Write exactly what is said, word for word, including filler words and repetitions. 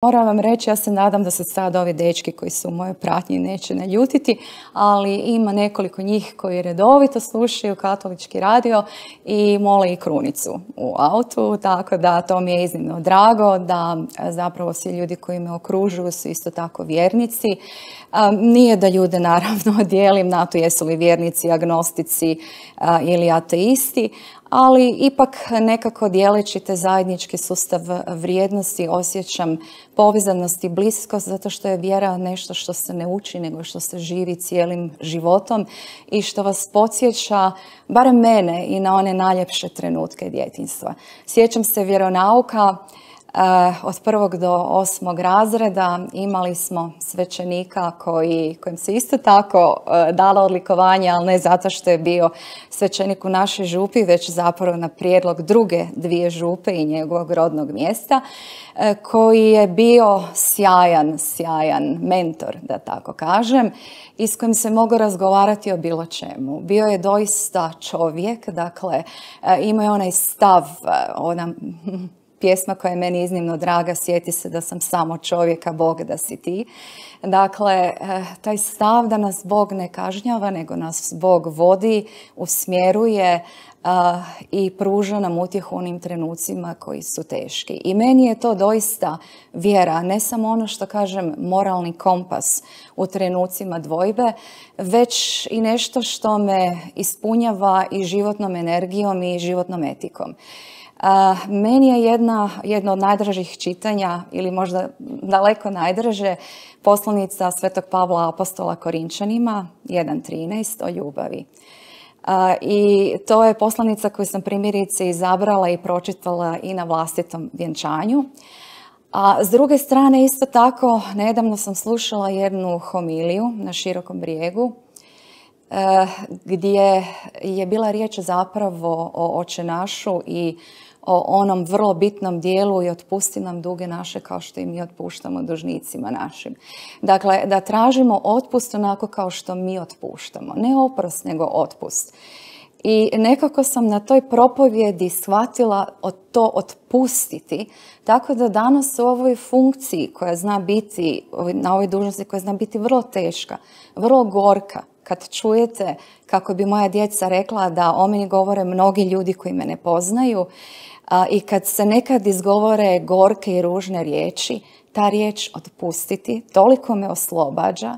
Moram vam reći, ja se nadam da se sad ovi dečki koji su u mojoj pratnji neće naljutiti, ali ima nekoliko njih koji redovito slušaju katolički radio i mole i krunicu u autu, tako da to mi je iznimno drago da zapravo svi ljudi koji me okružuju su isto tako vjernici. Nije da ljude naravno dijelim na to jesu li vjernici, agnostici ili ateisti, ali ipak nekako dijeleći te zajednički sustav vrijednosti osjećam povezanost i bliskost zato što je vjera nešto što se ne uči nego što se živi cijelim životom i što vas podsjeća, barem mene, i na one najljepše trenutke djetinjstva. Sjećam se vjeronauka. Od prvog do osmog razreda imali smo svećenika koji, kojem se isto tako dalo odlikovanje, ali ne zato što je bio svećenik u našoj župi, već zapravo na prijedlog druge dvije župe i njegovog rodnog mjesta, koji je bio sjajan, sjajan mentor, da tako kažem, i s kojim se mogao razgovarati o bilo čemu. Bio je doista čovjek, dakle, imao je onaj stav, ona pjesma koja je meni iznimno draga, sjeti se da sam samo čovjek, a Bog da si ti. Dakle, taj stav da nas Bog ne kažnjava, nego nas Bog vodi, usmjeruje i pruža nam utjehu u onim trenucima koji su teški. I meni je to doista vjera, ne samo ono što kažem moralni kompas u trenucima dvojbe, već i nešto što me ispunjava i životnom energijom i životnom etikom. Uh, meni je jedna, jedno od najdražih čitanja, ili možda daleko najdraže, poslanica Svetog Pavla Apostola Korinčanima, jedan trinaest, o ljubavi. Uh, I to je poslanica koju sam primjerice izabrala i pročitala i na vlastitom vjenčanju. A s druge strane, isto tako, nedavno sam slušala jednu homiliju na Širokom brijegu, gdje je bila riječ zapravo o Oče našu i o onom vrlo bitnom dijelu i otpusti nam duge naše kao što i mi otpuštamo dužnicima našim. Dakle, da tražimo otpust onako kao što mi otpuštamo. Ne oprost, nego otpust. I nekako sam na toj propovjedi shvatila od to otpustiti, tako da danas u ovoj funkciji koja zna biti, na ovoj dužnosti koja zna biti vrlo teška, vrlo gorka, kad čujete, kako bi moja djeca rekla, da o meni govore mnogi ljudi koji me ne poznaju, a, i kad se nekad izgovore gorke i ružne riječi, ta riječ otpustiti toliko me oslobađa.